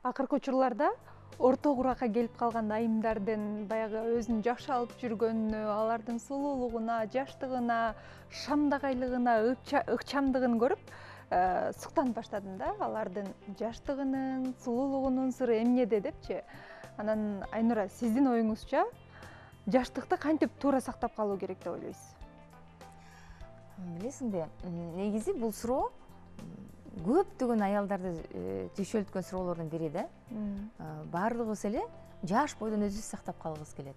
Акыркы учурларда орто куракка келип калган айымдардын баягы өзүн жакшы алып жүргөнүнө, алардын сулуулугуна, жаштыгына, шамдагайлыгына, ыкчамдыгын көрүп суктанып баштадым да. Алардын жаштыгынын, сулуулугунун сыры эмнеде депчи. Анан Айнура, сиздин оюңузча жаштыкты кантип туура сактап калуу керек деп ойлойсуз? Билесиңби, негизи бул суроо көптөгөн аялдарды түйшөлткөн суроолордун бири да. Баардыгыбыз эле жаш бойдон өзүбүздү сактап калгыбыз келет.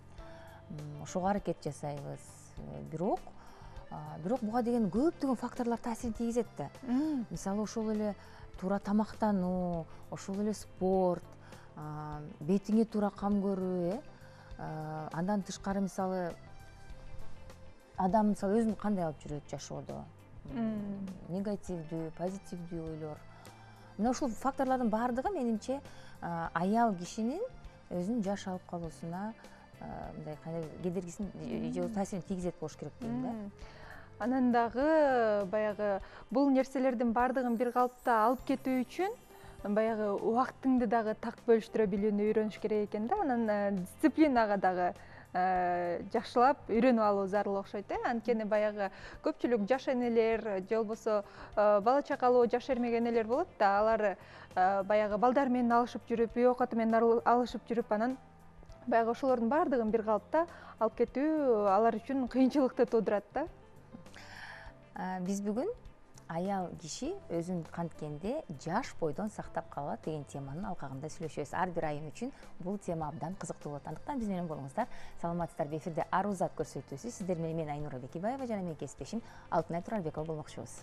Ошого аракет жасайбыз. Бирок буга деген көптөгөн факторлор таасирин тийгизет да. Мисалы ошол эле туура тамактануу, ошол эле спорт, бетиңе туура кам көрүү, андан тышкары мисалы адам өзүн кандай алып жүрөт жашоодо? Негативдүү, позитивдүү ойлор. Мына ушул факторлордун баардыгы менимче аял кишинин өзүн жаш алып калуусуна мындай кедергисин же таасирин тийгизет болуш керек дейм да. Анан дагы баягы бул нерселердин баардыгын бир калыпта алып кетүү үчүн баягы убактыңды дагы так бөлүштүрө билүүнү үйрөнүш керек экен да. Анан дисциплинага дагы жакшылап үйрөнүп алуу зарыл окшойт. Анткени баягы көпчүлүк жаш энелер же болбосо бала чакалуу жаш эрмек энелер болот да. Алар баягы балдар менен алышып жүрүп, үй оокаты менен алышып жүрүп, анан баягы ошолордун баардыгын бир калыпта алып кетүү алар үчүн кыйынчылыкты туудурат да. Биз бүгүн аял киши өзүн канткенде жаш бойдон сактап калат деген теманын алкагында сүйлөшөбүз. Ар бир айым үчүн бул тема абдан кызыктуу болот. Андыктан биз менен болуңуздар. Саламатсыздарбы? Эфирде Арузат көрсөтүүсү. Сиздер менен мен Айнура Бекибаева жана менин кесиптешим Алтынай Туралбекова болмокчубуз.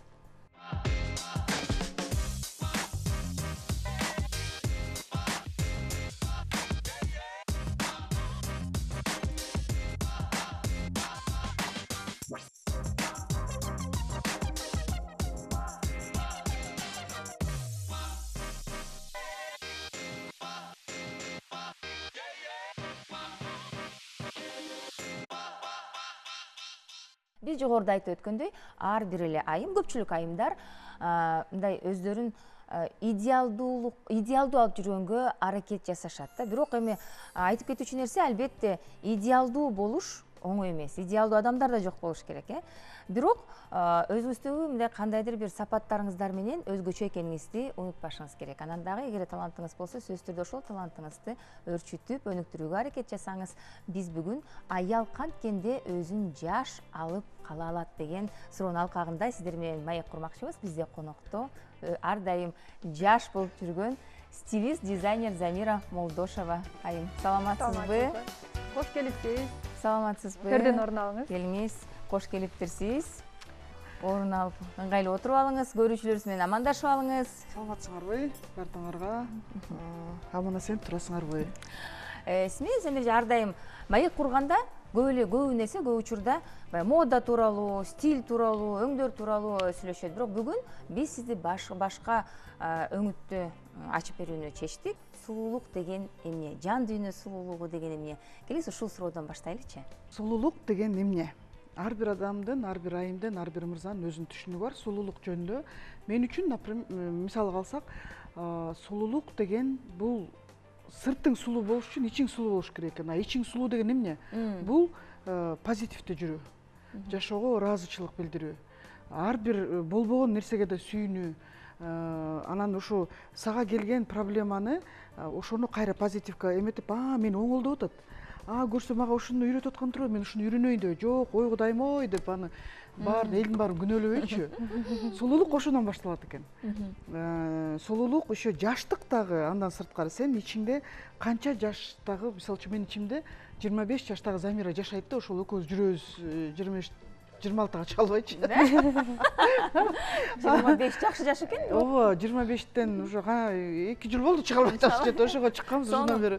Биз жогоруда айтып өткөндөй, ар бир эле айым, көпчүлүк айымдар мындай өздөрүн идеалдуу алып жүргөнгө аракет жасашат да. Бирок эми айтып кетүүчү нерсе албетте идеалдуу болуш оңой эмес. Идеалдуу адамдар да жок болуш керек, Бирок өзүңүздөгү мындай кандайдыр бир сапаттарыңыздар менен өзгөчө экениңизди унутпашыңыз керек. Анан дагы эгер талантыңыз болсо, сөзсүз түрдө ошол талантыңызды өрчүтүп, өнүктүрүүгө аракет жасаңыз. Биз бүгүн аял канткенде өзүн жаш алып кала алат деген суроонун алкагында сиздер менен маек курмакчыбыз. Бизде конокто ар дайым жаш болуп жүргөн стилист, дизайнер Замира Молдошова айым. Саламатсызбы? Кош келипсиз. Саламатсызбы? Төрдөн орун алыңыз. Келиңиз. Кош келиптирсиз. Орун алып, ыңгайлуу отуруп алыңыз. Көрүүчүлөрүбүз менен амандашып алыңыз. Саламатсыңарбы? Бартыңарга аман эсен турасыңарбы? Сиз менен ар дайым маек курганда көп нерсе, көп учурда мода тууралуу, стиль тууралуу, өңдөр тууралуу сүйлөшөт. Бирок бүгүн биз сизди башка өңүттү ачып берүүнү чечтик. Сулуулук деген эмне? Жан дүйнө сулуулугу деген эмне? Келиңиз ушул суроодон баштайлычы. Сулуулук деген эмне? Ар бир адамдын, ар бир айымдын, ар бир мырзанын өзүнүн түшүнүгү бар сулуулук жөнүндө. Мен үчүн, мисалга алсак, сулуулук деген бул сыртың сулуу болуш үчүн ичиң сулуу болуш керек экен. Ичиң сулуу деген эмне? Бул позитивдүү жүрүү, жашоого ыраазычылык билдирүү, ар бир болбогон нерсеге да сүйүнүү, анан ушу сага келген проблеманы ошону кайра позитивге эметип, мен оңолдоп атат. Көрсө мага ушуну үйрөтүп аткан турбу, мен ушуну үйрөнөйүн деп, жок, ой кудайым ой деп аны элдин баарын күнөөлөбөйчү. Сулуулук ошондон башталат экен. Сулуулук еще жаштык дагы андан сырткары. Сен ичиңде канча жаштагы, мисалы үчүн менин ичимде 25 жаштагы Замира жашайт да, ошол экөөбүз жүрөбүз 26-га чыга албайчы. 25 жакшы жаш экен. Ооба, 25тен уже 2 жыл болду чыга албай атабыз. Жете ошого чыкканбыз, ошондон бери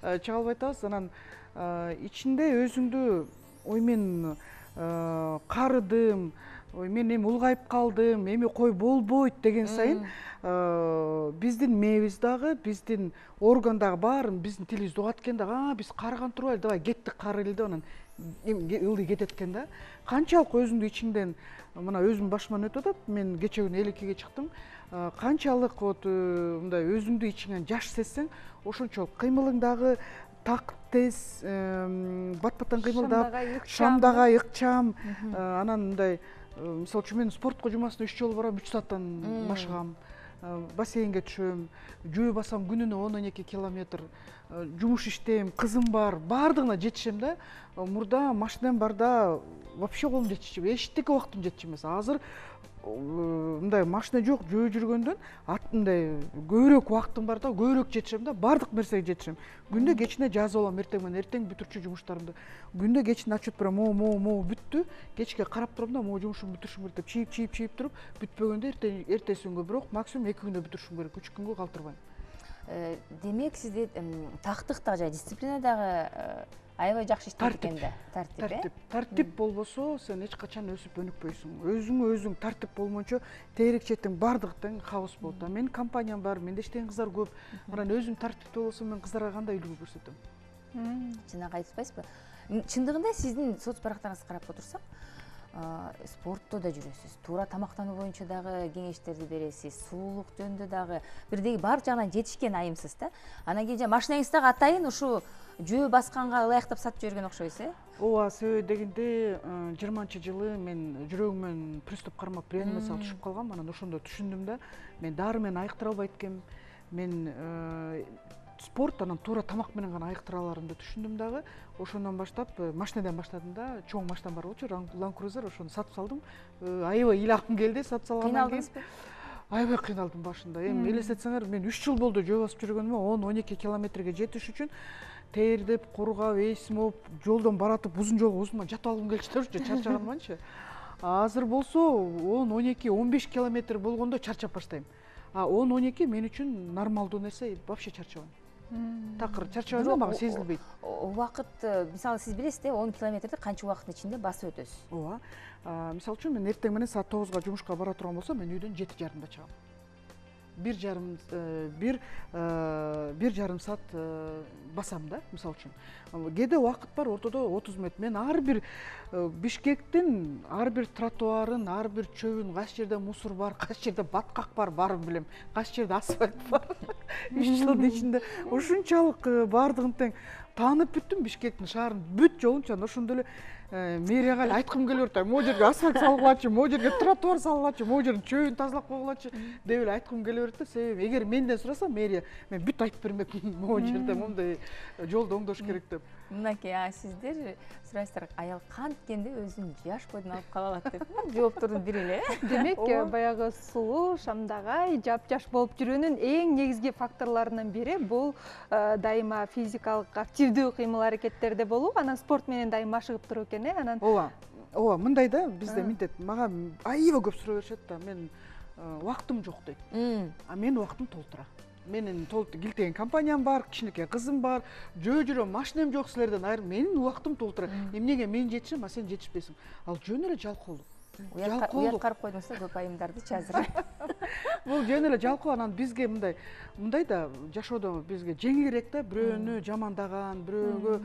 чыга албай атабыз. Анан ичинде өзүңдү ой мен карыдым, мен эми улгайып калдым, эми кой болбойт деген сайын биздин мээбиз дагы, биздин орган дагы баарын биздин тилибизди угат экен да, биз карыган турбайлы, давай кеттик карыйлы деп анан ылдый кетет экен да. Канчалык өзүңдү ичиңден, мына өзүм башыман өтүп атат. Мен кече күнү элеккеге чыктым. канчалык вот мындай өзүңдү ичиңен жаш сезсең, ошончолук кыймылың дагы так тез, бат баттан кыймылдап, шамдага ыкчам. Анан мындай мисалы үчүн мен спортко жумасына 3 жолу барам, 3 сааттан машыгам. Бассейнге түшөм, жөө басам күнүнө 10-12 километр. Жумуш иштейм, кызым бар, баардыгына жетишем да. Мурда машинам барда вообще колум жетишчү, эчтеке убактым жетчү эмес. Азыр мындай машина жок, жөө жүргөндөн мындай көбүрөөк убактым бар да, көбүрөөк жетишем да, баардык нерсеге жетишем. Күндө кечине жазып алам, эртең менен эртең бүтүрчү жумуштарымды. Күндө кечине отчет берем, могу бүттү. Кечке карап турам да, могу жумушумду бүтүрүшүм керек деп чийип туруп, бүтпөгөндө эртеси күнгө бирок максимум 2 күндө бүтүрүшүм керек, 3 күнгө калтырбайм. Демек сизде тактыктагы жана дисциплина дагы аябай жакшы иштейт экен да. Тартип болбосо сен эч качан өсүп өнүкпөйсүң. Өзүң тартип болмончо тегерек четтең баардыгы тең хаос болот. Менин компаниям бар, менде иштеген кыздар көп. Анан өзүм тартиптүү болсом мен кыздарга кандай үлгү көрсөтөм? Чынак айтпайсызбы? Чындыгында сиздин соц барактарыңызды карап отурсак, спортто да жүрөсүз, туура тамактануу боюнча дагы кеңештерди бересиз, сулуулук жөнүндө дагы бирдеги бар жагынан жетишкен айымсыз да. Анан кийин машинаңыз дагы атайын ушу жөө басканга ылайыктап сатып жиберген окшойсуз, э? Ооба, себеби дегенде 20-жылы мен жүрөгүмөн приступ кармап реанимацияга түшүп калгам. Анан ошондо түшүндүм да, мен дары менен айыктыра албайт экенмин. Мен спорт анан туура тамак менен гана айыктыра аларымды түшүндүм дагы. Ошондон баштап машинадан баштадым да. Чоң машинам бар болчу, Land Cruiser, ошону сатып салдым. Аябай ыйлакым келди сатып салгандан кийин. Кыйналдыңызбы? Аябай кыйналдым башында. Эми элестетсеңер, мен 3 жыл болду жөө басып жүргөнүмө, 10-12 километрге жетиш үчүн тердеп, кургап, эсим болуп, жолдон баратып, узун жолго узундан жатып алгым келчү да, чарчаганманчы. Азыр болсо 10-12-15 километр болгондо чарчап баштайм. А 10-12 мен үчүн нормалдуу нерсе, вообще чарчабайм. Такыр чарчабайм, мага сезилбейт. Убакыт, мисалы сиз билесиз да, 10 километрди канча убакыттын ичинде басып өтөсүз? Ооба. Мисалы үчүн мен эртең менен саат 9-га жумушка бара турган болсом, мен үйдөн 7:30 чыгам. 1,5 саат басам да, мисалы үчүн. Кээде убакыт бар, ортодо 30 мүнөт. Мен ар бир Бишкектин ар бир тротуарын, ар бир чөбүн, кайсы жерде мусор бар, кайсы жерде баткак бар, баарын билем. Кайсы жерде асфальт бар. 3 жылдын ичинде ушунчалык баардыгын тең таанып бүттүм Бишкектин шаарын, бүт жолунча. Ошондо эле мэрияга эле айткым келип атат. Могу жерге асфальт салгылачы, могу жерге тротуар салгылачы, могу жердин чөбүн тазалап койгулачы деп эле айткым келип атат. Себеби эгер менден сураса мэрия, мен бүт айтып бермекмин, могу жерде мондай жолду оңдош керек деп. Мынакей, сиздер сурайсыздар, аял канткенде өзүн жаш бойдон алып кала алат деп. Жооптордун бири эле. Демек, баягы сулуу, шамдагай, жапжаш болуп жүрүүнүн эң негизги факторлорунун бири бул дайыма физикалык активдүү кыймыл аракеттерде болуу, анан спорт менен дайыма машыгып туруу экен, э? Анан Ооба, мындай да, бизде мынтет, мага аябай көп суроо беришет да, мен убактым жок дейт. А мен убактым толтура. Менин килтеген компаниям бар, кичинекей кызым бар, жөө жүрөм, машинам жок силерден айрым. Менин убактым толтура. Эмнеге мен жетишем, а сен жетишпейсиң? Ал жөн эле жалкоолук. Уят карып койдуңуз да көп айымдардычы азыр. Бул жөн эле жалкоо. Анан бизге мындай да жашоодо бизге жеңилирээк да, бирөөнү жамандаган, бирөөгө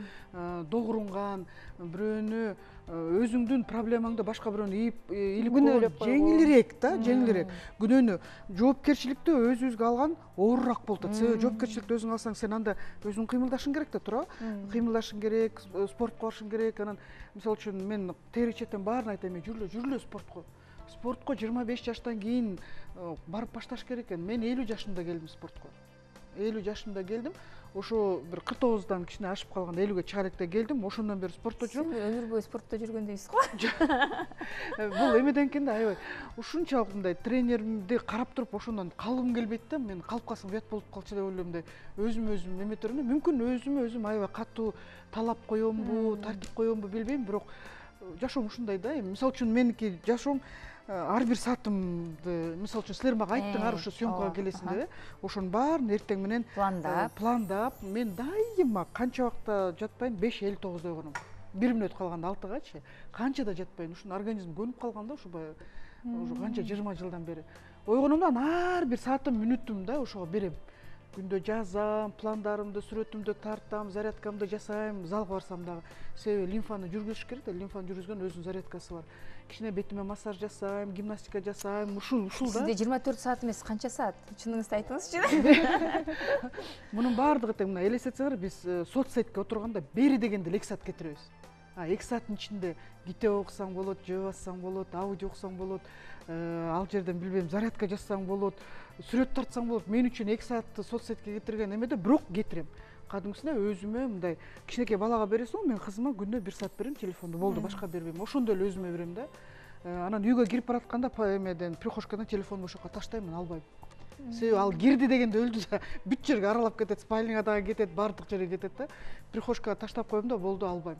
догурунган, бирөөнү өзүңдүн проблемаңды башка бирөөнү илип күнөөлөп жеңилирээк да, жеңилирээк. Күнөөнү жоопкерчиликти өзүбүзгө алган оорураак болуп атат. Себеби жоопкерчиликти өзүң алсаң, сен анда өзүң кыймылдашың керек да, туурабы? Кыймылдашың керек, спортко барышың керек. Анан мисалы үчүн мен тегерек четтен баарын айтам, жүрүлө спортко. Спортко 25 жаштан кийин барып башташ керек экен. Мен 50 жашымда келдим спортко. 50 жашымда келдим. Ошо бир 49-дан кичине ашып калган 50-ге чыгар элек келдим. Ошондон бери спортто жүрөм. Сиз өмүр бою спортто жүргөндөйсүз го. Бул эмеден экен да, аябай. Ушунчалык мындай тренеримди карап туруп ошондон калгым келбейт да. Мен калып калсам уят болуп калчу деп ойлойм да. Өзүм эме турган. Мүмкүн өзүм аябай катуу талап коёмбу, тартип коёмбу билбейм, бирок жашоом ушундай да. Мисалы үчүн меники жашоом ар бир саатымды, мисалы үчүн силер мага айттыңар ушу съемкага келесиң деп, ошонун баарын эртең менен пландап, мен дайыма канча убакта жатпайм, 5:59 ойгоном. 1 мүнөт калганда 6-гачы, канча да жатпайм, ушун организм көнүп калган да, ушу канча 20 жылдан бери. Ойгоном да, ар бир саатым, мүнөтүм да ошого берем. Күндө жазам, пландарымды, сүрөтүмдү тартам, зарядкамды жасайм, залга барсам дагы. Себеби лимфаны жүргүзүш керек да, лимфаны жүргүзгөн өзүнүн зарядкасы бар. кичине бетиме массаж жасайм, гимнастика жасайм, ушул да. Сизде 24 саат эмес, канча саат? Чыныңызды айтыңызчы. Мунун баардыгы тең мына элестетсеңер, биз соцсетке отурганда бери дегенде 2 саат кетиребиз. 2 сааттын ичинде китеп окусаң болот, жөө бассаң болот, аудио окусаң болот, ал жерден билбейм, зарядка жасасаң болот, сүрөт тартсаң болот. Мен үчүн 2 саатты соцсетке кетирген эмеде бирок кетирем. Кадимгисине өзүмө мындай кичинекей балага бересиң, мен кызыма күнүнө 1 саат берем телефонду, болду, башка бербейм. Ошондой эле өзүмө берем да. Анан үйгө кирип баратканда эмеден прихожкадан телефонду ошоко таштайм, албайм. Себеби ал кирди дегенде өлдү да, бүт жерге аралап кетет, спальняга дагы кетет, баардык жерге кетет да. Прихожкага таштап коем да, болду, албайм.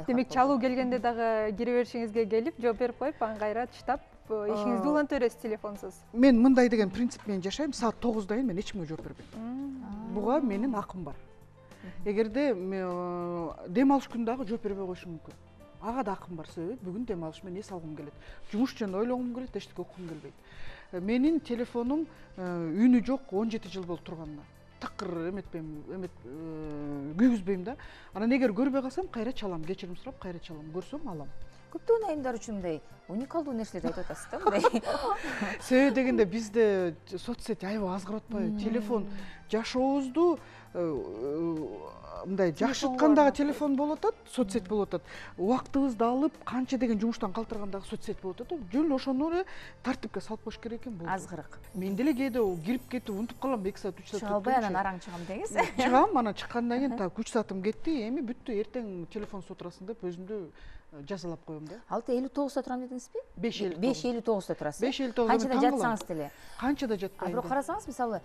Демек чалуу келгенде дагы кире беришиңизге келип, жооп берип коюп, анан кайра таштап, ишиңизди уланта бересиз телефонсуз. Мен мындай деген принцип менен жашайм, саат 9 кийин мен эч кимге жооп бербейм. Буга менин акым бар. Эгерде дем алыш күнү дагы жооп бербей коюшум мүмкүн. Ага да акым бар, себеби бүгүн дем алыш, мен эс алгым келет. Жумуш жөнүндө ойлогум келет, эчтеке окугум келбейт. Менин телефонум үнү жок 17 жыл болуп турганына. Такыр эметпейм, күйгүзбейм да. Анан эгер көрбөй калсам, кайра чалам, кечирим сурап кайра чалам. Көрсөм алам. Көптөгөн айымдар үчүн мындай уникалдуу нерселерди айтып атасыз да, мындай. Себеби дегенде бизде соцсет аябай азгырып атпайбы? Телефон жашообузду мындай жакшырткандагы телефон болуп атат, соцсет болуп атат. Убактыбызды алып, канча деген жумуштан калтыргандагы соцсет болуп атат. Жөн ошону эле тартипке салып коюш керек экен болду. Азгырык. Мен деле кээде кирип кетип унутуп калам, 2 саат, 3 саат. Чыга албай анан араң чыгам деңиз. Чыгам, анан чыккандан кийин так 3 саатым кетти, эми бүттү, эртең телефонсуз отурасың деп өзүмдү жазалап коем да. 6:59 турам дедиңизби? 5:59 турасыз. 5:59 Канчада жатсаңыз деле. Канчада жатпайм. Бирок карасаңыз, мисалы,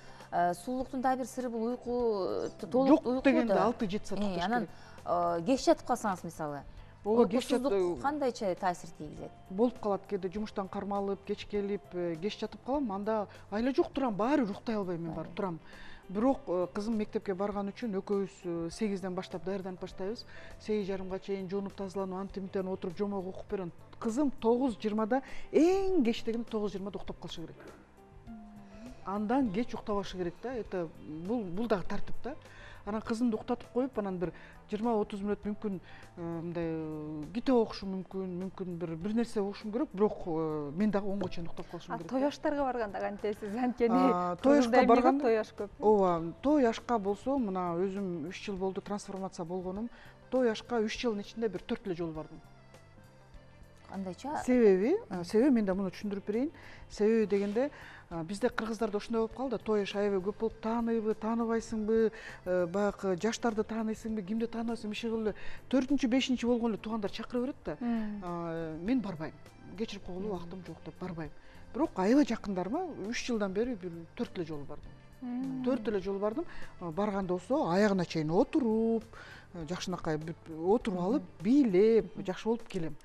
сулуулуктун дагы бир сыры бул уйку, толук уйку. Жок дегенде 6-7 саат укташ керек. Анан кеч жатып калсаңыз, мисалы, ооба, кеч жатып кандайча таасир тийгизет? Болуп калат, кээде жумуштан кармалып, кеч келип, кеч жатып калам, анда айла жок турам, баары уктай албайм, мен барып турам. Бирок кызым мектепке барган үчүн экөөбүз 8ден баштап даярданып баштайбыз. 8:30га чейин жуунуп тазаланып, антимтен отуруп жомок окуп берем. Кызым 9:20да, эң кеч дегенде 9:20да уктап калышы керек. Андан кеч уктабашы керек да. Это бул дагы тартип да. Анан кызымды уктатып коюп, анан бир 20-30 мүнөт мүмкүн мындай китеп окушум мүмкүн бир нерсе окушум керек, бирок мен дагы 10го чейин уктап калышым керек. Той аштарга барганда кантесиз? Анткени той ашка барганда той аш көп. Ооба, той ашка болсо, мына өзүм 3 жыл болду трансформация болгонум. Той ашка 3 жылдын ичинде бир 4 эле жолу бардым. Кандайча? Себеби мен да муну түшүндүрүп берейин. Себеби дегенде бизде кыргыздарда ошондой болуп калды, той аш аябай көп болуп, тааныйбы, тааныбайсыңбы, баягы жаштарды тааныйсыңбы, кимди тааныбайсың, иши кылып эле 4-5 болгон эле туугандар чакыра берет да. Мен барбайм. Кечирип койгола убактым жок деп барбайм. Бирок аябай жакындарыма 3 жылдан бери бир 4 эле жолу бардым. 4 эле жолу бардым. Барганда болсо аягына чейин отуруп, жакшынакай отуруп алып, бийлеп, жакшы болуп келем.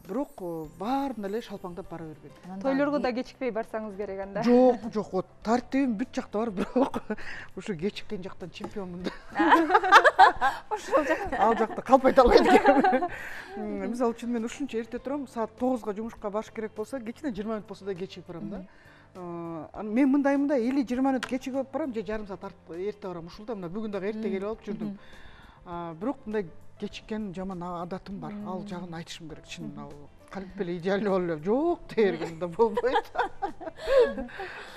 Бирок баарына эле шалпаңдап бара бербейм. Тойлорго да кечикпей барсаңыз керек анда. Жок, вот тартибим бүт жакта бар, бирок ушу кечиккен жактан чемпионмун да. Ошол жакта. Ал жакта калпайта албайм. Мисалы үчүн мен ушунча эрте турам, саат 9га жумушка барыш керек болсо, кечине 20 мүнөт болсо да кечигип барам да. Мен мындай или 20 мүнөт кечигип барам, же жарым саат эрте барам. Ушул да мына бүгүн дагы эрте келип алып жүрдүм. Бирок мындай кечиккен жаман адатым бар. Ал жагын айтышым керек. Чын ал калп эле идеальный болуп эле жок дегенде болбойт.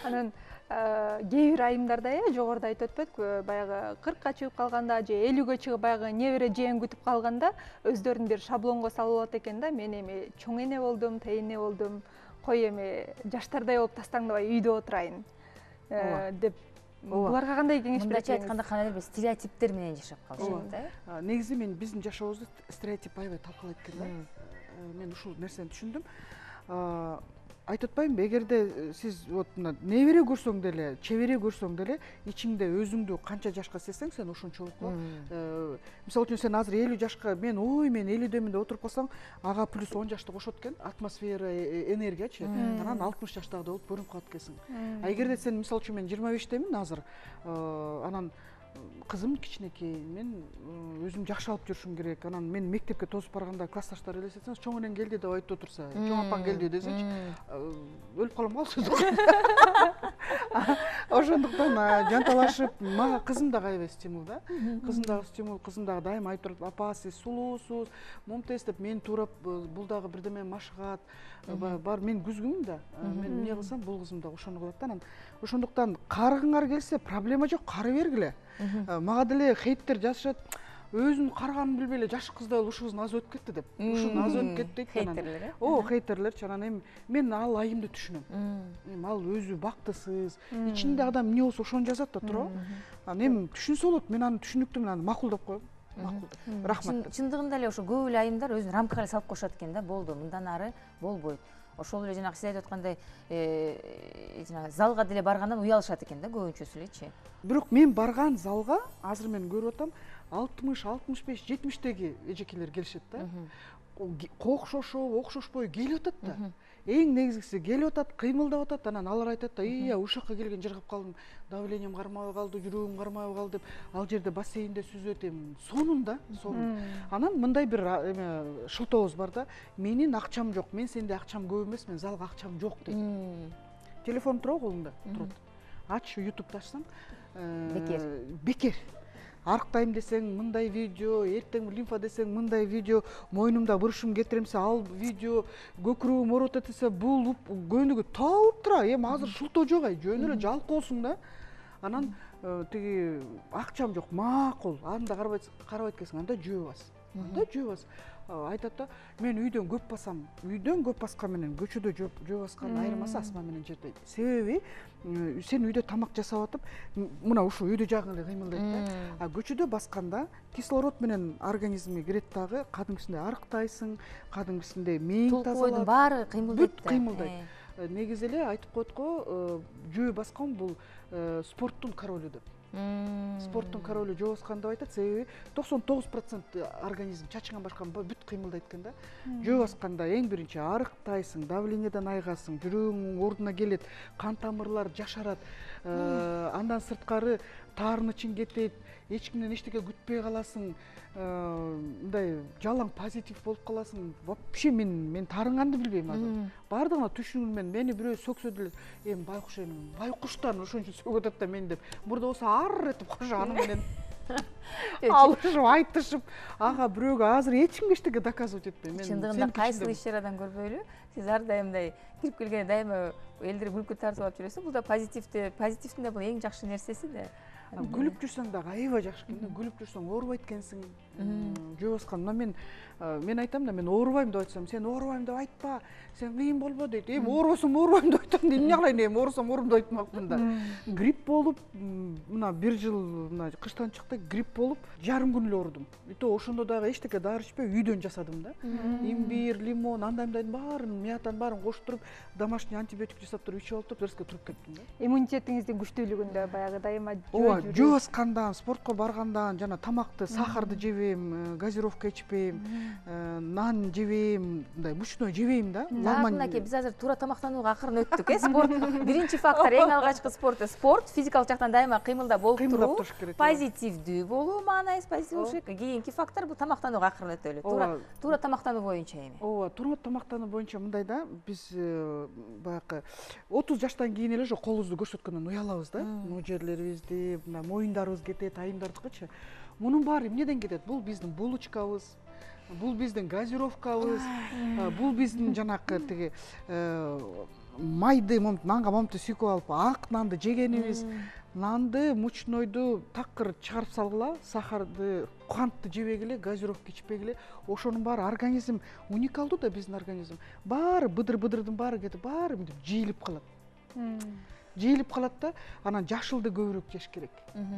Анан кээ бир айымдарда жогоруда айтып өтпөдүкпү, баягы 40ка чыгып калганда же 50ге чыгып баягы небере жээн күтүп калганда өздөрүн бир шаблонго салып алат экен да. Мен эми чоң эне болдум, тейине болдум, кой эми жаштардай болуп тастаңдабай үйдө отурайын деп. Буларга кандай кеңеш бересиз? Мындайча айтканда кандайдыр бир стереотиптер менен жашап калышат да. Негизи мен биздин жашообузду стереотип аябай талкалайт экен да. Мен ушул нерсени түшүндүм. Айтып атпаймынбы, эгерде сиз вот мына небере көрсөң деле, чебере көрсөң деле, ичиңде өзүңдү канча жашка сезсең, сен ошончолук. Мисалы үчүн сен азыр 50 жашка, мен 50дөмүн деп отуруп калсаң, ага плюс 10 жашты кошот экен, атмосфера, энергиячы. Анан 60 жаштагыдай болуп көрүнүп калат экенсиң. Эгерде сен мисалы үчүн мен 25-темин азыр, анан кызым кичинекей, мен өзүм жакшы алып жүрүшүм керек. Анан мен мектепке тосуп барганда классташтар элестетсеңиз, чоң энең келди деп айтып отурса, чоң апаң келди десечи, өлүп калам го ал. Ошондуктан жанталашып, мага кызым дагы аябай стимул да. Кызым дагы стимул, кызым дагы дайыма айтып турат, апа сиз сулуусуз, мумтез деп мени туурап, бул дагы бирдеме машыгат. Бар мен күзгүмүн да. Мен эмне кылсам, бул кызым дагы ошону кылат да. Анан ошондуктан карыгыңар келсе, проблема жок, карый бергиле. Мага деле хейттер жазышат. Өзүн карыганын билбей эле жаш кыздай ушул кыз аз өтүп кетти деп. Ушул аз өтүп кетти дейт. Хейтерлер, э? Хейтерлерчи. Анан эми мен ал айымды түшүнөм. Эми ал өзү бактысыз, ичинде адам эмне болсо ошону жазат да, туурабы? Анан эми түшүнсө болот. Мен аны түшүнүктүү менен макулдап коем. Макул. Рахмат. Чындыгында эле ошо көп эле айымдар өзүн рамкага салып коюшат экен да, болду, мындан ары болбойт. Ошол эле жанагы сиз айтып аткандай, жанагы залга деле баргандан уялышат экен да көбүнчөсү элечи. Бирок мен барган залга азыр мен көрүп атам, 60, 65, 70-теги эжекелер келишет да. Окшошуп, окшошпой келип атат да. Эң негизгиси келип атат, кыймылдап атат, анан алар айтат да, ушул жака келген жыргап калдым, давлением кармабай калды, жүрөгүм кармабай калды деп, ал жерде бассейнде сүзөт, эми сонун да, сонун. Анан мындай бир эме шылтообуз бар да, менин акчам жок, мен сенде акчам көп эмес, мен залга акчам жок дейт. Телефон турабы колунда? Турат. Ач, YouTube'да ачсаң, бекер. Арыктайм десең мындай видео, эртең лимфа десең мындай видео, мойнумда бурушум кетиремсе ал видео, көкүрөгүм ооруп атат десе бул көнүгү тауып тура. Эми азыр шылтоо жок, жөн эле жалкоосуң да. Анан тиги акчам жок, макул. Анда карабайт экенсиң, анда жөө бас. Анда жөө бас. Айтат да, мен үйдөн көп басам. Үйдөн көп баскан менен көчөдө жөө баскан айырмасы асман менен жерде. Себеби сен үйдө тамак жасап атып, мына ушул үйдө жагың эле кыймылдайт да. Көчөдө басканда кислород менен организмге кирет дагы, кадимкисиндей арыктайсың, кадимкисиндей мээң тазалат. Толкуйдун баары кыймылдайт. Бүт кыймылдайт. Негизи эле айтып коет го, жөө баскан бул спорттун королу деп. Спорттун королу жөө баскан деп айтат, себеби 99% организм чачыңан башка бүт кыймылдайт экен да. Жөө басканда эң биринчи арыктайсың, давлениеден айыгасың, жүрөгүң ордуна келет, кан тамырлар жашарат, андан сырткары таарынычың кетет, эч кимден эчтеке күтпөй каласың, мындай жалаң позитив болуп каласың. Вообще мен таарынганды билбейм азыр. Бардыгына түшүнүм, мени бирөө сөксө деле, эми байкуш эми, байкуштан ошон үчүн сөгүп атат да мен деп. Мурда болсо ар этип кошо аны менен алышып, айтышып, ага бирөөгө азыр эч кимге эчтеке доказывать этпейм. Чындыгында кайсыл иш чарадан көрбөйлү, сиз ар дайым мындай кирип келгенде дайыма элдер күлкү тартып алып жүрөсүз. Бул да позитивдин да бул эң жакшы нерсеси да. Күлүп жүрсөң дагы аябай жакшы экен да. Күлүп жүрсөң оорубайт экенсиң. Жөө баскан. Мен айтам да, мен оорубайм деп айтсам, сен оорубайм деп айтпа, сен кыйын болбо дейт. Эми оорубасам оорубайм деп айтам, эмне кылайын, эми оорусам оорум деп айтмакмын да. Грипп болуп, мына бир жыл мына кыштан чыкты, грипп болуп, жарым күн эле оорудум. И то ошондо дагы эчтеке дары ичпей үйдөн жасадым да. Имбир, лимон, андайдын баарын, мыятан баарын коштуруп, домашний антибиотик жасап туруп ичип алып туруп, дерске туруп кеттим да. Иммунитетиңиздин күчтүүлүгүндө баягы дайыма жөө баскандан, спортко баргандан, жана тамакты, сахарды жебейм, газировка ичпейм, нан жебейм, мындай мучной жебейм да. Лагман биз азыр туура тамактанууга акырын өттүк, спорт биринчи фактор, эң алгачкы спорт, физикалык жактан дайыма кыймылда болуп туруу, позитивдүү болуу маанайыбыз, позитив болуш керек. Кийинки фактор бул тамактанууга акырын өтөлү. Туура тамактануу боюнча эми. Ооба, туура тамактануу боюнча мындай да, биз баягы 30 жаштан кийин эле ошо колубузду көрсөткөндөн уялабыз да. Могу жерлерибизди, мына моюндарыбыз кетет, айымдардыкычы. Мунун баары эмнеден кетет? Бул биздин булочкабыз, бул биздин газировкабыз, бул биздин жанакы тиги майды, нанга момунту сүйкөп алып ак нанды жегенибиз. Нанды, мучнойду такыр чыгарып салгыла, сахарды, кантты жебегиле, газировка ичпегиле. Ошонун баары организм уникалдуу да, биздин организм. Баары быдыр-быдырдын баары кетип, баары мынтип жыйылып калат. Жыйылып калат да, анан жашылды көбүрөөк жеш керек.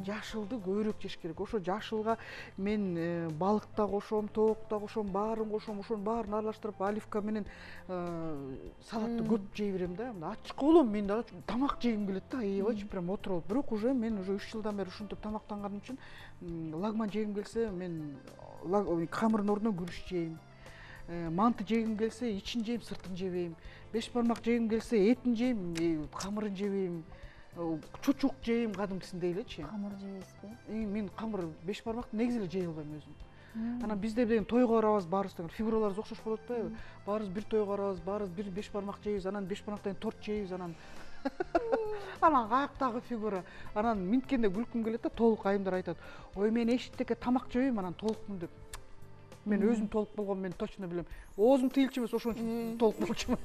Жашылды көбүрөөк жеш керек. Ошо жашылга мен балык да кошом, тоок да кошом, баарын кошом, ошонун баарын аралаштырып, оливка менен салатты көп жей берем да. Ачык болом, мен дагы тамак жегим келет да, аябайчы прям отуруп. Бирок уже мен уже 3 жылдан бери ушинтип тамактанганым үчүн лагман жегим келсе, мен камырдын ордуна күрүч жейм. Манты жегим келсе, ичин жейм, сыртын жебейм. 5 бармак жегим келсе, этин жейм, камырын жебейм. чучук жейм кадимкисиндей элечи. Камыр жейсизби? Мен камыр 5 бармакты негизи эле жей албайм өзүм. Анан бизде деген тойго барабыз, баарыбыз деген фигураларыбыз окшош болуп атпайбы? Баарыбыз бир тойго барабыз, баарыбыз бир 5 бармак жейбиз, анан 5 бармактан торт жейбиз, анан каяктагы фигура. Анан минткенде күлкүм келет да, толук айымдар айтат: "Ой, мен эшиктеке тамак жебейм, анан толукмун" деп. Мен өзүм толук болгон мен точно билем. Оозум тыйылчу эмес, ошон үчүн толук болчумун.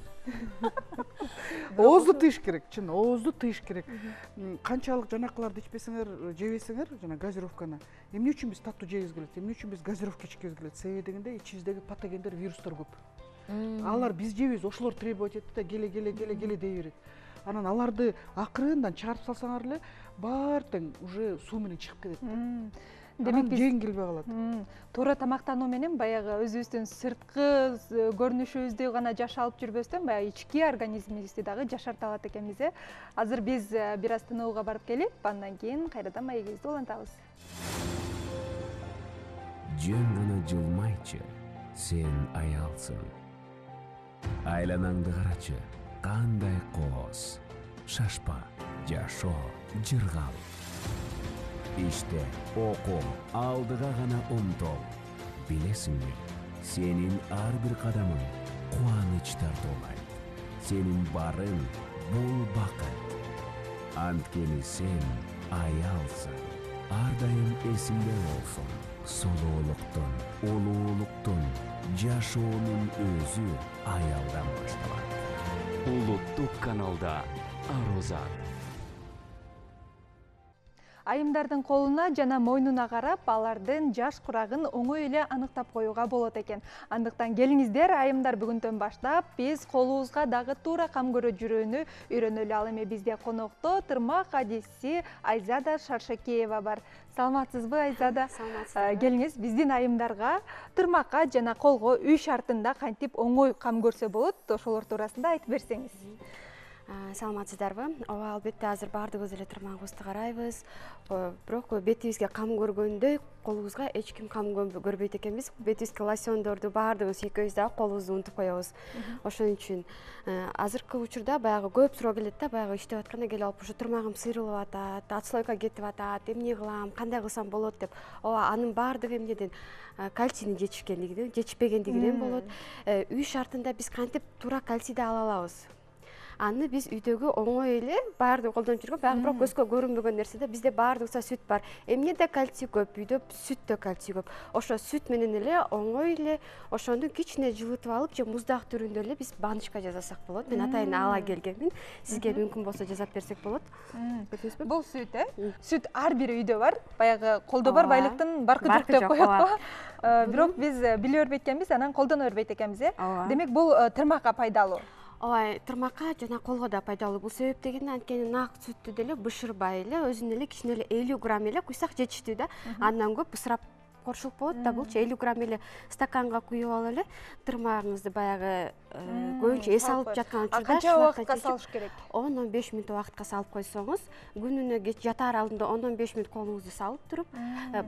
Оозду тыйыш керек, чын, оозду тыйыш керек. Канчалык жанакыларды ичпесеңер, жебесеңер, жана газировканы, эмне үчүн биз таттуу жегибиз келет, эмне үчүн биз газировка ичкибиз келет? Себеби дегенде ичибиздеги патогендер, вирустар көп. Алар биз жейбиз, ошолор требовать этти да, келе дей берет. Анан аларды акырындан чыгарып салсаңар эле, баары тең уже суу менен чыгып кетет. Демек биз жең келбей калат. Туура тамактануу менен баягы өзүбүздүн сырткы көрүнүшүбүздү гана жашалып жүрбөстөн, баягы ички организмибизди дагы жашарта алат экенбиз. Азыр биз бир аз тынууга барып келип, андан кийин кайрадан маегибизди улантабыз. Жөн гана жылмайчы, сен аялсың. Айланаңды карачы, кандай кооз. Шашпа, жашоо, жыргал. İşte окуу, алдыга гана умтол. Билесиңби, сенин ар бир кадамың кубаныч тартуулайт. Сенин барың бул бакыт. Анткени сен аялсың. Ар дайым эсиңде болсун. Солуулуктун, улуулуктун, жашоонун өзү аялдан башталат. Улуттук каналда Арозат. Айымдардын колуна жана мойнуна карап, алардын жаш курагын оңой эле аныктап коюуга болот экен. Андыктан келиңиздер, айымдар, бүгүндөн баштап биз колубузга дагы туура кам көрө жүрүүнү үйрөнөлү. Ал эми бизде конокто тырмак адисчи Айзада Шаршакеева бар. Саламатсызбы, Айзада? Саламатсызбы. Келиңиз, биздин айымдарга тырмакка жана колго үй шартында кантип оңой кам көрсө болот, ошолор туурасында айтып берсеңиз. Саламатсыздарбы? Ооба, албетте азыр баардыгыбыз эле тырмагыбызды карайбыз. Бирок бетибизге кам көргөндөй колубузга эч ким кам көрбөйт экенбиз. Бетибизге лосьондорду баардыгыбыз сүйкөйбүз дагы колубузду унутуп коебуз. Ошон үчүн азыркы учурда баягы көп суроо келет да, баягы иштеп атканда келип алып, ушу тырмагым сыйрылып атат, отслойка кетип атат, эмне кылам, кандай кылсам болот деп. Ооба, анын баардыгы эмнеден? Кальцийни жетишпегендигинен болот. Үй шартында биз кантип туура кальцийди ала алабыз? Аны биз үйдөгү оңой эле баардыгы колдонуп жүргөн, баягы бирок көзгө көрүнбөгөн нерсе да, бизде баардыгыбызда сүт бар. Эмнеде кальций көп, үйдө сүттө кальций көп. Ошо сүт менен эле оңой эле ошону кичине жылытып алып, же муздак түрүндө эле биз баночка жасасак болот. Мен атайын ала келгенмин. Сизге мүмкүн болсо жасап берсек болот. Бул сүт, Сүт ар бир үйдө бар. Баягы колдо бар байлыктын баркы жок деп коет го. Бирок биз биле бербейт экенбиз, анан колдоно бербейт экенбиз. Демек бул тырмакка пайдалуу. Ооба, тырмакка жана колго да пайдалуу. Бул себеп дегенде анткени нак сүттү деле бышырбай эле, өзүнө эле кичине эле 50 грамм эле куйсак жетиштүү да. Андан көп бысырап коршулуп болот да. Булчу 50 грамм эле стаканга куюп алып эле тырмагыңызды баягы көбүнчө эс алып жаткан учурда канча убакытка салыш керек? 10-15 мүнөт убакытка салып койсоңуз, күнүнө жатаар алдында 10-15 мүнөт колуңузду салып туруп,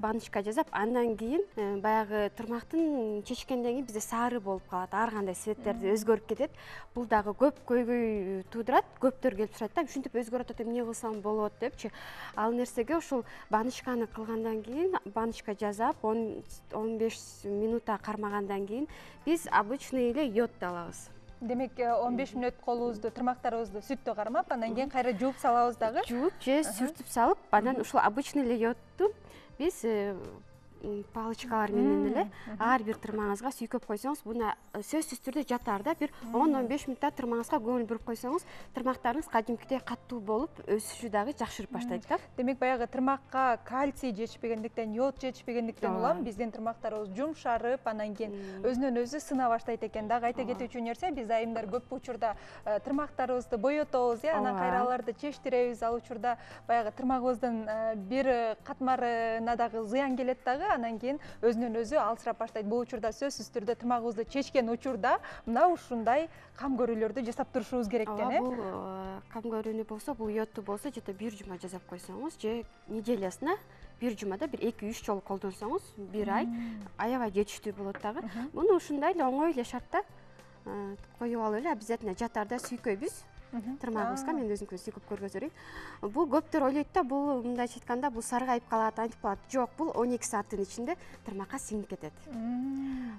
баночка жасап, андан кийин баягы тырмактын чечкенден кийин бизде сары болуп калат, ар кандай цветтерди өзгөрүп кетет. Бул дагы көп көйгөй туудурат. Көптөр келип сурайт да, ушинтип өзгөрүп атат, эмне кылсам болот депчи. Ал нерсеге ушул баночканы кылгандан кийин, баночка жасап 10-15 минутта кармагандан кийин биз обычный эле йодду алабыз. Демек 15 мүнөт колубузду, тырмактарыбызды сүттө кармап, андан кийин кайра жууп салабыз дагы. Жууп же сүртүп салып, анан ушул обычный эле йодду биз палочкалар менен эле ар бир тырмагыңызга сүйкөп койсоңуз, буна сөзсүз түрдө жатаар да. Бир 10-15 мүнөттө тырмагыңызга көңүл буруп койсоңуз, тырмактарыңыз кадимкидей каттуу болуп, өсүшү дагы жакшырып баштайт да. Демек баягы тырмакка кальций жетишпегендиктен, йод жетишпегендиктен улам биздин тырмактарыбыз жумшарып, анан кийин өзүнөн өзү сына баштайт экен. Дагы айта кетүүчү нерсе, биз айымдар көп учурда тырмактарыбызды боётобуз, анан кайра аларды чечтиребиз. Ал учурда баягы тырмагыбыздын бир катмарына дагы зыян келет дагы. Анан кийин өзүнөн өзү алсырап баштайт. Бул учурда сөзсүз түрдө тырмагыбызды чечкен учурда мына ушундай кам көрүүлөрдү жасап турушубуз керек экен. Бул кам көрүүнү болсо, бул йодду болсо, жете бир жума жасап койсоңуз, же неделясына бир жумада бир 2-3 жолу колдонсоңуз, бир ай аябай жетиштүү болот дагы. Муну ушундай эле оңой эле шартта коюп алып эле обязательно жатаарда сүйкөйбүз. тырмагыбызга мен өзүм сүйкүп көргөзөрүн. Бул көптөр ойлойт да, бул мындайча айтканда бул саргайып калат, антип калат. Жок, бул 12 сааттын ичинде тырмакка сиңип кетет.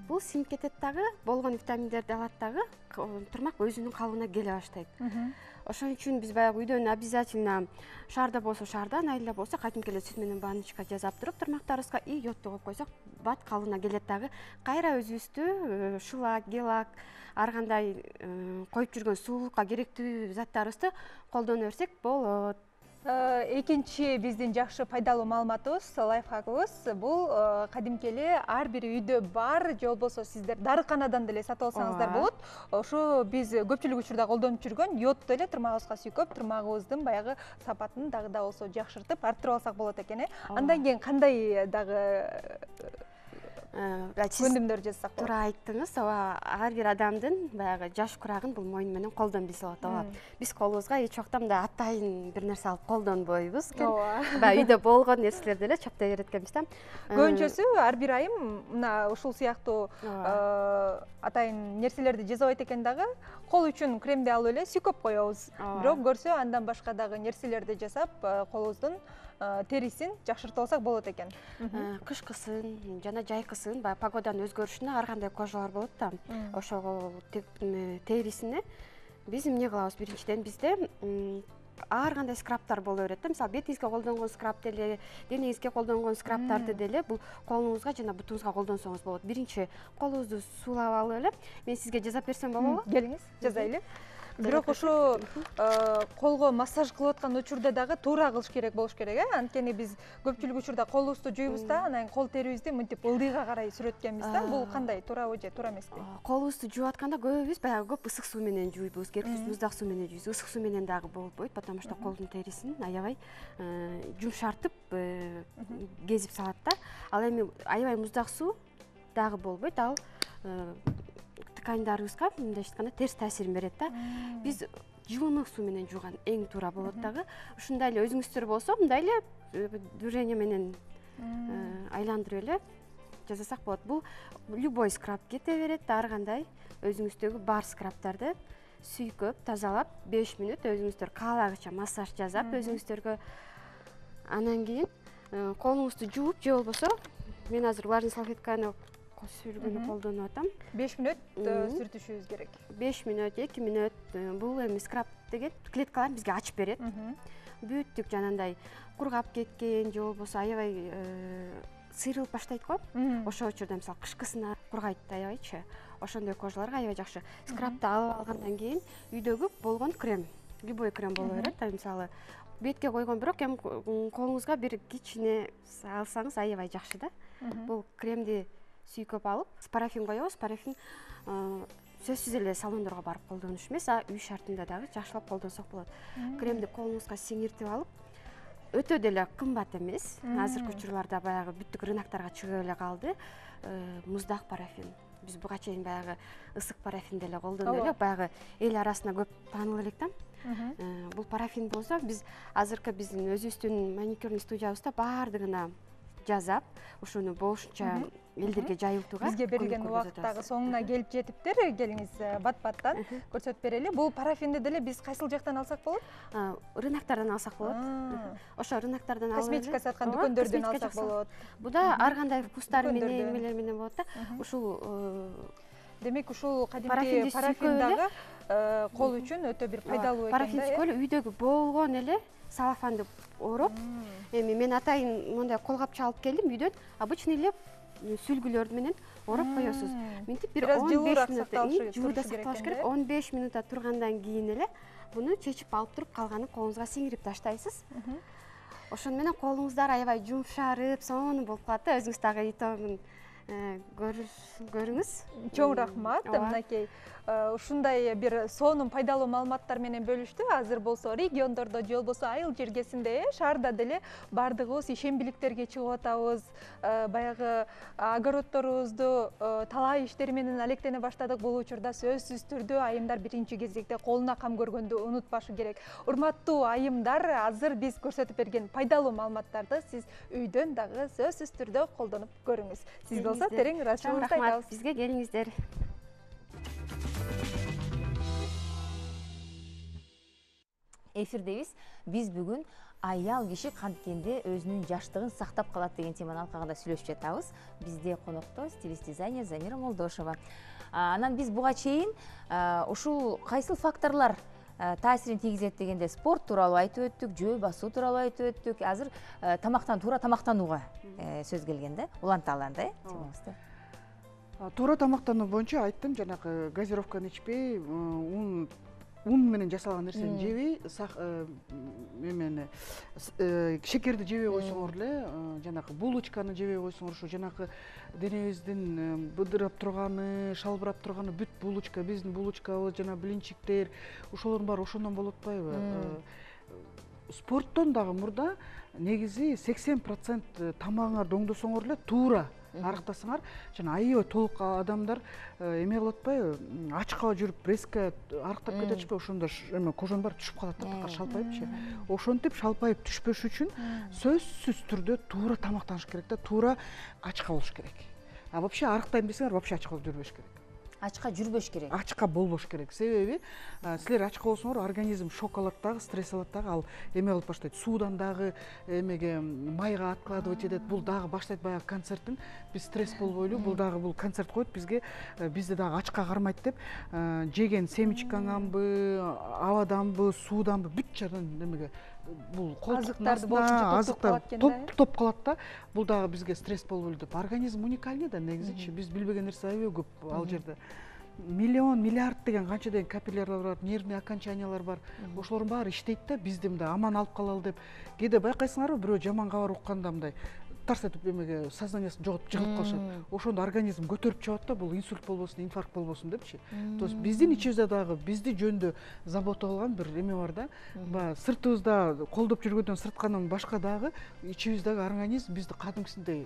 Бул сиңип кетет дагы, болгон витаминдерди алат дагы, тырмак өзүнүн калыбына келе баштайт. Ошон үчүн биз баягы үйдөн обязательно шаарда болсо шаардан, айылда болсо кадимки эле сүт менен баночка жасап туруп тырмактарыбызга и йодду коюп койсок, бат калыбына келет дагы. Кайра өзүбүздү шулак, гелак, ар кандай коюп жүргөн сулуулукка керектүү заттарыбызды колдоно берсек болот. Экинчи биздин жакшы пайдалуу маалыматыбыз, лайфхагыбыз бул кадимки эле ар бир үйдө бар, же болбосо сиздер дарыканадан деле сатып алсаңыздар болот. Ошо биз көпчүлүк учурда колдонуп жүргөн йодду эле тырмагыбызга сүйкөп, тырмагыбыздын баягы сапатын дагы да болсо жакшыртып, арттырып алсак болот экен. Андан кийин кандай дагы көндүмдөр жасасак болот? Туура айттыңыз. Ооба, ар бир адамдын баягы жаш курагын бул мойну менен колдон билсе болот. Ооба. Биз колубузга эч убакта мындай атайын бир нерсе алып колдонбойбуз экен. Баягы үйдө болгон нерселерди эле чаптай берет экенбиз да. Көбүнчөсү ар бир айым мына ушул сыяктуу атайын нерселерди жасабайт экен дагы, кол үчүн кремди алып эле сүйкөп коебуз. Бирок көрсө андан башка дагы нерселерди жасап, колубуздун терисин жакшыртып алсак болот экен. Кышкысын жана жайкысын баягы погоданын өзгөрүшүнө ар кандай кожалар болот да. Ошого терисине биз эмне кылабыз? Биринчиден бизде ар кандай скрабтар боло берет да. Мисалы, бетиңизге колдонгон скраб деле, денеңизге колдонгон скрабтарды деле бул колуңузга жана бутуңузга колдонсоңуз болот. Биринчи колубузду суулап алып эле, мен сизге жасап берсем болобу? Келиңиз, жасайлы. Бирок ошо колго массаж кылып аткан учурда дагы туура кылыш керек болуш керек, Анткени биз көпчүлүк учурда колубузду жуйбуз да, анан кол терибизди мынтип ылдыйга карай сүрөткөнбүз да. Бул кандай, туурабы же туура эмеспи? Колубузду жууп атканда көбүбүз баягы көп ысык суу менен жуйбуз, керексиз муздак суу менен жуйбуз. Ысык суу менен дагы болбойт, потому что колдун терисин аябай жумшартып кезип салат да. Ал эми аябай муздак суу дагы болбойт. Ал ткандарыбызга мындайча айтканда терс таасирин берет да. Биз жылымык суу менен жууган эң туура болот дагы. Ушундай эле өзүңүздөр болсо мындай эле движение менен айландырып эле жасасак болот. Бул любой скраб кете берет, ар кандай өзүңүздөгү бар скрабтарды сүйкөп, тазалап 5 мүнөт өзүңүздөр каалагыча массаж жасап өзүңүздөргө, анан кийин колуңузду жууп, же болбосо мен азыр влажный салфетканы сүргөнү колдонуп атам. 5 мүнөт сүртүшүбүз керек. 5 мүнөт, 2 мүнөт. Бул эми скраб деген клеткаларын бизге ачып берет. Бүттүк жанагындай кургап кеткен, же болбосо аябай сыйрылып баштайт го. Ошол учурда мисалы кышкысына кургайт аябайчы. Ошондой кожаларга аябай жакшы. Скрабты алып алгандан кийин үйдөгү болгон крем, любой крем боло берет. Мисалы бетке койгон, бирок эми колуңузга бир кичине алсаңыз аябай жакшы да. Бул кремди сүйкөп алып, парафин коебуз. Парафин сөзсүз эле салондорго барып колдонуш эмес, үй шартында дагы жакшылап колдонсок болот. Кремди колуңузга сиңиртип алып, өтө деле кымбат эмес. Азыркы учурларда баягы бүттүк рыноктарга чыгып эле калды. Муздак парафин. Биз буга чейин баягы ысык парафин деле колдонуп элек, баягы эл арасында көп таанылып элек да. Бул парафин болсо биз азыркы биздин өзүбүздүн маникюрный студиябызда баардыгына жасап, ушуну болушунча элдерге жайылтууга бизге берилген убакыт дагы соңуна келип жетиптир. Келиңиз бат-баттан көрсөтүп берели. Бул парафинди деле биз кайсыл жактан алсак болот? Рыноктардан алсак болот. Ошо рыноктардан алып косметика саткан дүкөндөрдөн алсак болот. Бу да ар кандай вкустар менен, эмелер менен болот да. Ушул демек ушул кадимки парафин дагы кол үчүн өтө бир пайдалуу экен да. Парафин сүйкөлү үйдөгү болгон эле салафанды ороп, эми мен атайын мондай колгапча алып келдим үйдөн. Обычный эле сүлгүлөр менен ороп коесуз. Мынтип бир 15 мүнөт жууда сакталыш керек. 15 мүнөт тургандан кийин эле буну чечип алып туруп, калганын колуңузга сиңирип таштайсыз. Ошону менен колуңуздар аябай жумшарып, сонун болуп калат да. Өзүңүз дагы итогун көрүңүз. Чоң рахмат. Мынакей ушундай бир сонун пайдалуу маалыматтар менен бөлүштү. Азыр болсо региондордо же болбосо айыл жергесинде, шаарда деле баардыгыбыз ишембиликтерге чыгып атабыз. Баягы огороддорубузду талай иштери менен алектене баштадык. Бул учурда сөзсүз түрдө айымдар биринчи кезекте колуна кам көргөндү унутпашы керек. Урматтуу айымдар, азыр биз көрсөтүп берген пайдалуу маалыматтарды сиз үйдөн дагы сөзсүз түрдө колдонуп көрүңүз. Сиз болсо терең ыраазычылыгыбызды айтабыз. Бизге келиңиздер. эфирдебиз. Биз бүгүн аял киши канткенде өзүнүн жаштыгын сактап калат деген теманын алкагында сүйлөшүп жатабыз. Бизде конокто стилист дизайнер Замира Молдошева. Анан биз буга чейин ушул кайсыл факторлор таасирин тийгизет дегенде спорт тууралуу айтып өттүк, жөө басуу тууралуу айтып өттүк. Азыр туура тамактанууга сөз келген да. Уланталы анда темабызды. Туура тамактануу боюнча айттым, жанагы газировканы ичпей, ун менен жасалган нерсени жебей, шекерди жебей койсоңор эле, жанагы булочканы жебей койсоңор, ушу жанагы денебиздин быдырап турганы, шалбырап турганы бүт булочка, биздин булочкабыз, жана блинчиктер, ошолордун баары ошондон болуп атпайбы? Спорттон дагы мурда негизи 80% тамагыңарды оңдосоңор эле туура арыктасаңар, жана аябай толук адамдар эме кылып атпайбы, ачка жүрүп резко арыктап кетип атышпайбы, ошондо эме кожонун баары түшүп калат, тактакка шалпайыпчы. Ошентип шалпайып түшпөш үчүн сөзсүз түрдө туура тамактаныш керек да, туура ачка болуш керек. А вообще арыктайм десеңер, вообще ачка жүрбөш керек. Ачка жүрбөш керек. Ачка болбош керек. Себеби силер ачка болсоңор, организм шок алат дагы, стресс алат дагы, ал эме кылып баштайт. Суудан дагы эмеге майга откладывать этет. Бул дагы баштайт баягы концерттин. Биз стресс болбойлу, бул дагы бул концерт коет бизге, бизди дагы ачка кармайт деп, жеген семечкаңанбы, абаданбы, сууданбы бүт жадан эмеге бул колтуктарды топ калат да. Бул дагы бизге стресс болбойлу деп. Организм уникальный да негизичи. Биз билбеген нерсе аябай көп ал жерде. Миллион, миллиард деген канча деген капиллярлар бар, нервный окончаниялар бар. Ошолордун баары иштейт да, бизди мындай аман алып калалы деп. Кээде байкайсыңарбы, бирөө жаман кабар укканда мындай тарс этип эмеге сознаниясын жоготуп жыгылып калышат. Ошондо организм көтөрүп чыгат да, бул инсульт болбосун, инфаркт болбосун депчи. То есть биздин ичибизде дагы бизди жөнүндө забота кылган бир эме бар да. Баягы сыртыбызда колдоп жүргөндөн сырткандан башка дагы ичибиздеги организм бизди кадимкисиндей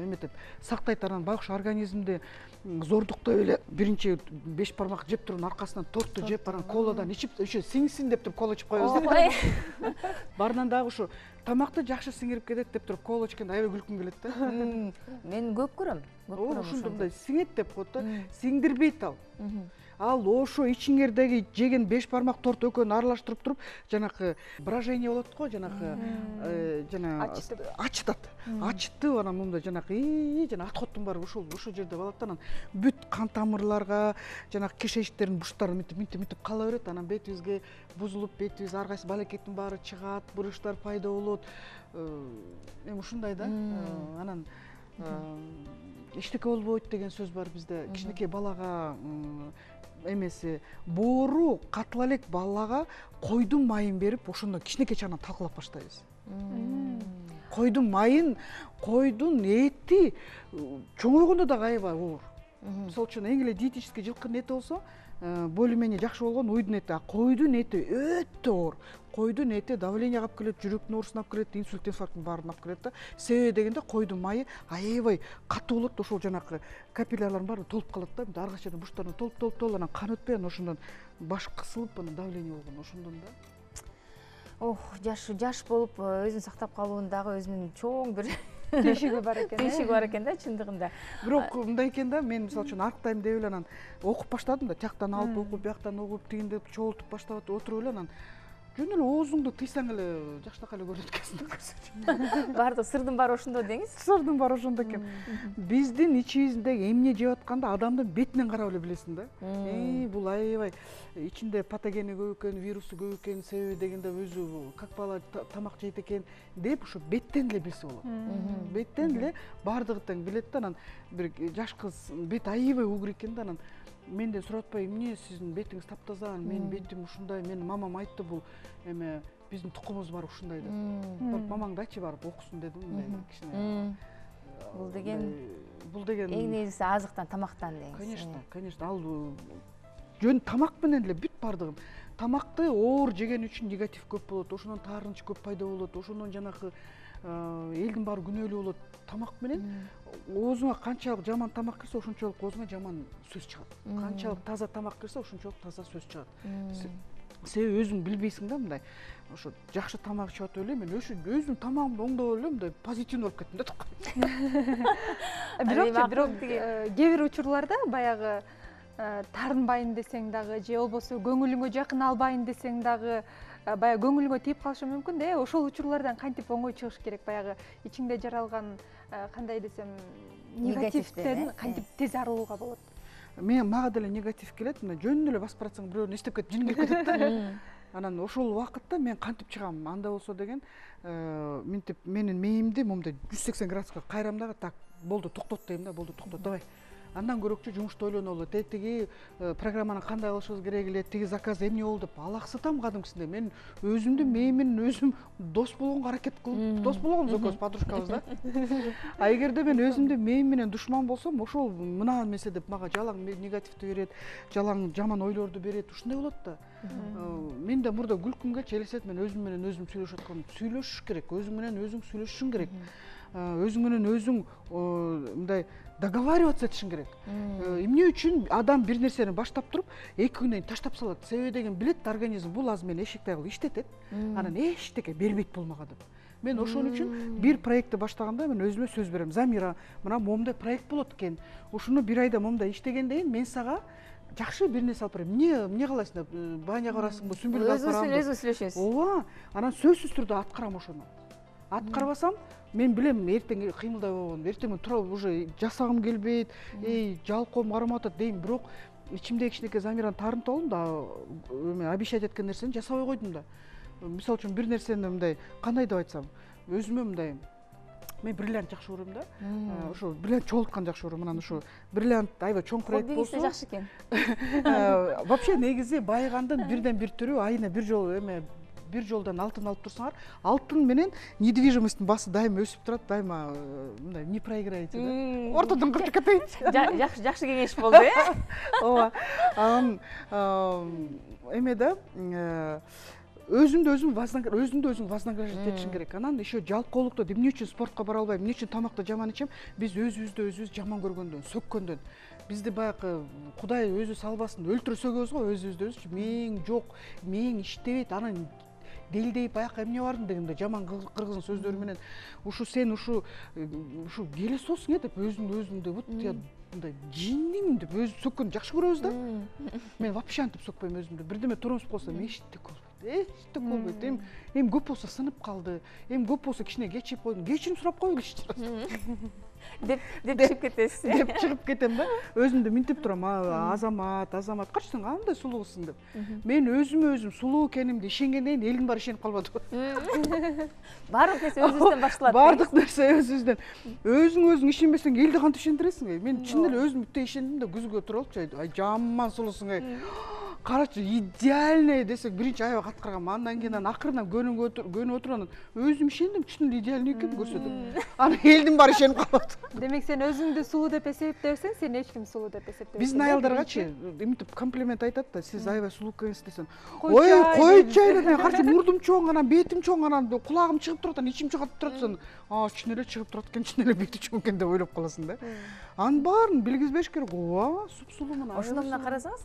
эметет, сактайт. Анан байкуш организмди зордуктап эле биринчи 5 бармак жеп туруп аркасынан торту жеп, анан коладан ичип, еще сиңсин деп туруп кола ичип коебуз да. Барынан дагы ушу тамакты жакшы сиңирип кетет деп туруп кола ичкенде аябай күлкүм келет да. Мен көп көрөм. Ошондо мындай сиңет деп коет да. Сиңдирбейт ал. Ал ошо ичиңердеги жеген 5 бармак торт экөөнү аралаштырып туруп, жанакы брожение болот го, жанакы ачытат. Ачытып анан мындай жанакы жана отходтун баары ошол жерде болот да. Анан бүт кан тамырларга, жанакы кишечниктердин буштары мынтип кала берет. Анан бетибизге бузулуп, бетибиз ар кайсы балекеттин баары чыгат, буручтар пайда болот. Эми ушундай да. Анан эчтеке болбойт деген сөз бар бизде. Кичинекей балага эмеси боору катыла элек балага койдун майын берип, ошондон кичинекей чагынан талкалап баштайбыз. Койдун майын, койдун эти чоңойгондо дагы аябай оор. Мисалы үчүн эң эле диетический жылкынын эти болсо, более-менее жакшы болгон уйдун эти, а койдун эти өтө оор. Койдун эти давление алып келет, жүрөктүн оорусун алып келет, инсульт, инфаркттын баарын алып келет да. Себеби дегенде койдун майы аябай катуу болот, ошол жанакы капиллярлардын баары толуп калат да. Ар кайсы жерден буштардан толуп, анан кан өтпөй, анан ошондон баш кысылып, анан давление болгон, ошондон да. Жаш болуп өзүн сактап калуунун өзүнүн чоң бир түйшүгү бар экен. Түйшүгү бар экен да, чындыгында. Бирок мындай экен да, мен мисалы үчүн арыктайм деп эле анан окуп баштадым да, тияктан алып окуп, бияктан окуп, тигинде чогултуп баштап отуруп эле анан жөн эле оозуңду тыйсаң эле жакшынакай эле көрүнөт экенсиң. Баардык сырдын баары ошондо деңиз. Сырдын баары ошондо экен. Биздин ичибиздеги эмне жеп атканда адамдын бетинен карап эле билесиң да. Бул аябай ичинде патогени көп экен, вирусу көп экен, себеби дегенде өзү как бала тамак жейт экен деп ушу беттен эле билсе болот. Беттен эле баардыгы тең билет да. Анан бир жаш кыз бет аябай угур экен да, анан менден сурап атпайбы, эмне сиздин бетиңиз таптаза, менин бетим ушундай, менин мамам айтты, бул эме биздин тукумубуз бар ушундай деп. Барып мамаңды айтчы, барып окусун дедим, мындай кичине. Бул деген эң негизгиси азыктан, тамактан деңиз. Конечно, ал жөн тамак менен эле бүт баардыгын. Тамакты оор жеген үчүн негатив көп болот, ошондон таарынч көп пайда болот, ошондон жанакы элдин баары күнөөлүү болот. Тамак менен оозуңа канчалык жаман тамак кирсе, ошончолук оозуңа жаман сөз чыгат. Канчалык таза тамак кирсе, ошончолук таза сөз чыгат. Себеби өзүң билбейсиң да, мындай ошо жакшы тамак ичип атып эле мен өзүмдүн тамагымды оңдоп эле мындай позитивный болуп кеттим да. Бирок кээ бир учурларда баягы таарынбайын десең дагы же болбосо көңүлүңө жакын албайын десең дагы баягы көңүлүңө тийип калышы мүмкүн да. Ошол учурлардан кантип оңой чыгыш керек? Баягы ичиңде жаралган кандай десем негативден кантип тез арылууга болот? Мага деле негатив келет, мына жөн эле басып баратсаң бирөөнү эстеп кетип жиң келип кетет да. Анан ошол убакытта мен кантип чыгам? Анда болсо деген минтип менин мээримди момундай 180 градуска кайрам дагы, так болду токтот дейм да, болду токтот, давай. Андан көрөкчү жумушта ойлонолу, тиги программаны кандай кылышыбыз керек эле, тиги заказ эмне болду деп алаксытам кадимкисинде. Мен өзүмдү мээм менен өзүм дос болгонго аракет кылып, дос болгонбуз экөөбүз, подружкабыз да. А эгерде мен өзүмдү мээм менен душман болсом, ошол мына эмесе деп мага жалаң негативди берет, жалаң жаман ойлорду берет, ушундай болот да. Мен да мурда күлкүм келчү, элестет мен өзүм менен өзүм сүйлөшүп атканмын. Сүйлөшүш керек, өзүң менен өзүң сүйлөшүшүң керек. Өзүң менен өзүң мындай договариваться этишиң керек. Эмне үчүн адам бир нерсени баштап туруп, 2 күндөн кийин таштап салат? Себеби деген билет организм, бул азыр мен эшикти кылып иштетет, анан эчтеке бербейт бул мага деп. Мен ошон үчүн бир проектти баштаганда мен өзүмө сөз берем. Замира, мына момундай проект болот экен. Ушуну бир айда момундай иштегенден кийин мен сага жакшы бир нерсе алып берем. Эмне кыласың деп, баняга барасыңбы, сүмбүлгө алып барам деп. Өзүбүз сүйлөшөбүз. Ооба, анан сөзсүз түрдө аткарам ошону. Аткарбасам, мен билем эртең кыймылдай болгон, эртең мен туруп уже жасагым келбейт, жалкоом кармап атат дейм, бирок ичимде кичинекей Замираны таарынтып алдым да, обещать эткен нерсени жасабай койдум да. Мисалы үчүн бир нерсени мындай, кандай деп айтсам, өзүмө мындай, мен бриллиант жакшы көрөм да. Ошо бриллиант чогулткан жакшы көрөм. Анан ошо бриллиант аябай чоң проект болсо. Хоббиңиз жакшы экен. Вообще негизи байыгандын бирден бир түрү айына бир жолу бир жолдон алтын алып турсаңар, алтын менен недвижимосттун баасы дайыма өсүп турат, дайыма мындай не проиграете да. Ортодон кырчып кетейинчи. Жакшы кеңеш болду, Ооба. Анан эме да, өзүмдү өзүм вознаграждать этишим керек. Анан еще жалкоолукту эмне үчүн спортко бара албайм, эмне үчүн тамакты жаман ичем? Биз өзүбүз жаман көргөндөн, сөккөндөн. Бизди баягы Кудай өзү салбасын, өлтүрө сөгөбүз го өзүбүздү. Мээң жок, мээң иштебейт, анан делдейп аяка эмне бардың дегенде жаман кыргыздын сөздөрү менен сен ушу келесосуң деп өзүңдү вот мындай жиндимин деп өзү сөккөндү жакшы көрөбүз да. Мен вообще антип сөкпөйм өзүмдү. Бирдеме туруңуп калса эчтеке болбойт. Эми көп болсо сынып калды, эми көп болсо кичине кечип койдум, кечирим сурап коелу деп чыгып кетесиз. Деп чыгып кетем да. Өзүмдү минтип турам, Азамат, качы сен андай сулуусуң деп. Мен өзүм сулуу экенимди ишенгенден кийин элдин баары ишенип калбады. Баардык нерсе өзүбүздөн башталат. Баардык нерсе өзүбүздөн. Өзүң ишенбесең элди кантип ишендиресиң? Мен чын эле өзүм бүтө ишендим да, күзгө туруп алып, ай жаман сулуусуң. Карачы идеальный десек биринчи аябай каткаргам. Андан кийин акырынан көнүп отуруп өзүм ишендим, чын эле идеальный экенин көрсөтөм. Анан элдин баары ишенип калат. Демек сен өзүңдү сулуу деп эсептебесең, сени эч ким сулуу деп эсептебейт. Биздин аялдаргачы эмитип комплимент айтат да, сиз аябай сулуу экенсиз десем. Ой, койчу эле, карчы мурдум чоң, анан бетим чоң, анан кулагым чыгып турат, анан ичим чыгып турат десем, чын эле чыгып турат экен, чын эле бети чоң экен деп ойлоп каласың да. Анын баарын билгизбеш керек. Ооба, суп-сулуу. Ошондо мына карасаңыз,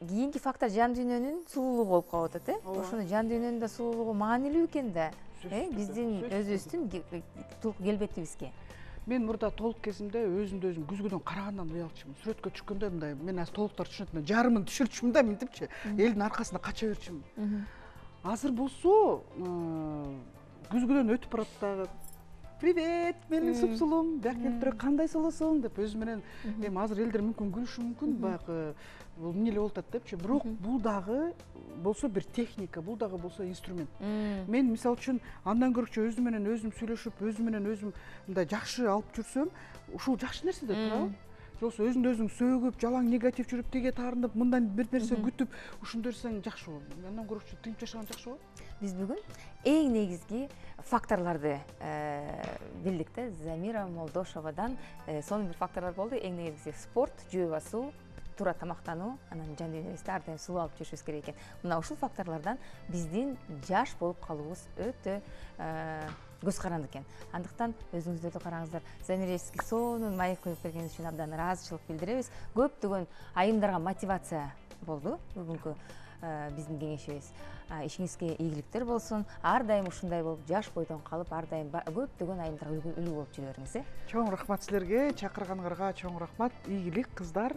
кийинки фактор жан дүйнөнүн сулуулугу болуп калып атат, Ошону жан дүйнөнүн да сулуулугу маанилүү экен да, биздин өзүбүздүн толук келбетибизге. Мен мурда толук кезимде өзүмдү өзүм күзгүдөн карагандан уялчумун. Сүрөткө түшкөндө мындай, мен азыр толуктар түшүнөт, жарымын түшүрчүмүн да, минтипчи, элдин аркасында кача берчүмүн. Азыр болсо күзгүдөн өтүп барат дагы. Привет, менин суп-сулуум, бияка келип туруп кандай сулуусуң деп өзү менен. Эми азыр элдер мүмкүн күлүшү мүмкүн, баягы бул эмне эле болуп атат депчи. Бирок бул дагы болсо бир техника, бул дагы болсо инструмент. Мен мисалы үчүн андан көрчү өзүм менен өзүм сүйлөшүп, өзүм менен өзүм мындай жакшы алып жүрсөм, ушул жакшы нерсе да туурабы? Жоксо өзүңдү өзүң сөгүп, жалаң негатив жүрүп, тиге таарынып, мындан бир нерсе күтүп, ушундай берсең жакшы болот. Андан көрчү тынчып жашаган жакшы болот. Биз бүгүн эң негизги факторлорду билдик да, Замира Молдошовадан. Сонун бир факторлор болду. Эң негизгиси спорт, жөө басуу, туура тамактануу, анан жан дүйнөбүздү ар дайым сулуу алып жүрүшүбүз керек экен. Мына ушул факторлордон биздин жаш болуп калуубуз өтө көз каранды экен. Андыктан өзүңүздөрдү караңыздар. Замира эске сонун маек коюп бергениңиз үчүн абдан ыраазычылык билдиребиз. Көптөгөн айымдарга мотивация болду бүгүнкү биздин кеңешибиз. Ишиңизге ийгиликтер болсун. Ар дайым ушундай болуп, жаш бойдон калып, ар дайым көптөгөн айымдарга үлгү болуп жүрө бериңиз. Чоң рахмат силерге, чакырганыңарга чоң рахмат. Ийгилик кыздар.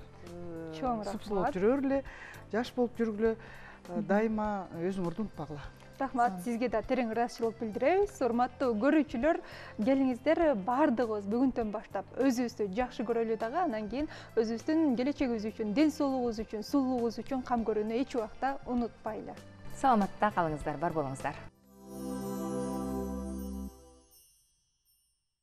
Чоң рахмат. Суп-сулуу жүрөлү, жаш болуп жүргүлө. дайыма өзүңөрдү унутпагыла. Рахмат, сизге да терең ыраазычылык билдиребиз. Урматтуу көрүүчүлөр, келиңиздер баардыгыбыз бүгүндөн баштап өзүбүздү жакшы көрөлү дагы, анан кийин өзүбүздүн келечегибиз үчүн, ден соолугубуз үчүн, сулуулугубуз үчүн кам көрүүнү эч убакта унутпайлы. Саламатта калыңыздар, бар болуңуздар.